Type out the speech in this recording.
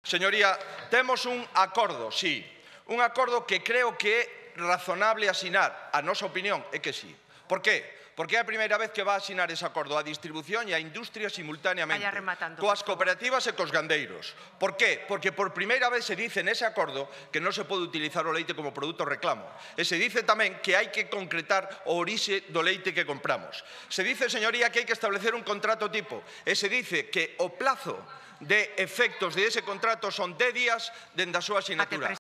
Señoría, temos un acordo, sí. Un acordo que creo que é razonable asinar. A nosa opinión é que sí. Por qué? Porque é a primeira vez que va a asinar ese acordo a distribución e a industria simultaneamente, coas cooperativas e cos gandeiros. Por qué? Porque por primeira vez se dice nese acordo que non se pode utilizar o leite como produto reclamo. E se dice tamén que hai que concretar o orixe do leite que compramos. Se dice, señoría, que hai que establecer un contrato tipo. E se dice que o plazo de efectos de ese contrato son 10 días dende a súa asinatura.